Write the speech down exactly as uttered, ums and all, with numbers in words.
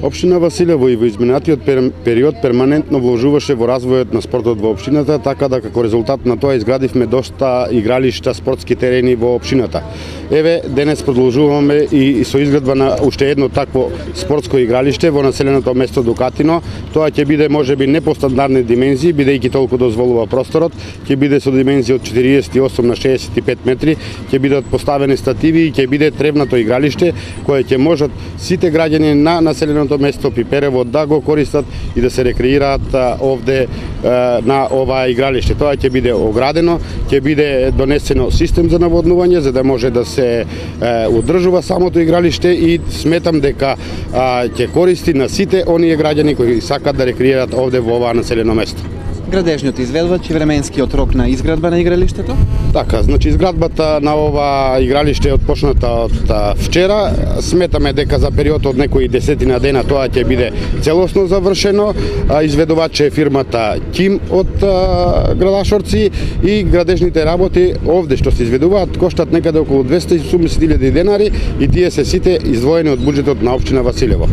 Општина Василево и во изминатиот период перманентно вложуваше во развојот на спортот во општината, така да како резултат на тоа изградивме доста игралишта, спортски терени во општината. Еве, денес продолжуваме и со изградба на уште едно такво спортско игралиште во населеното место Дукатино. Тоа ќе биде можеби не по стандардни димензии, бидејќи толку дозволува просторот, ќе биде со димензии од четириесет и осум на шеесет и пет метри, ќе бидат поставени стативи и ќе биде тревнато игралиште кое ќе можат сите граѓани на населеното место Пиперево да го користат и да се рекреираат овде на ова игралиште. Тоа ќе биде оградено, ќе биде донесено систем за наводнување за да може да се одржува самото игралиште и сметам дека ќе користи на сите оние граѓани кои сакат да рекреираат овде во ова населено место. Градежниот изведувач и временскиот рок на изградба на игралиштето? Така, значи изградбата на ова игралиште е отпочната од вчера. Сметаме дека за период од некои десетина дена тоа ќе биде целосно завршено. Изведувач е фирмата Ким од Градашорци и градежните работи овде што се изведуваат коштат некаде околу двесте и осумдесет илјади денари и тие се сите издвоени од буџетот на општина Василево.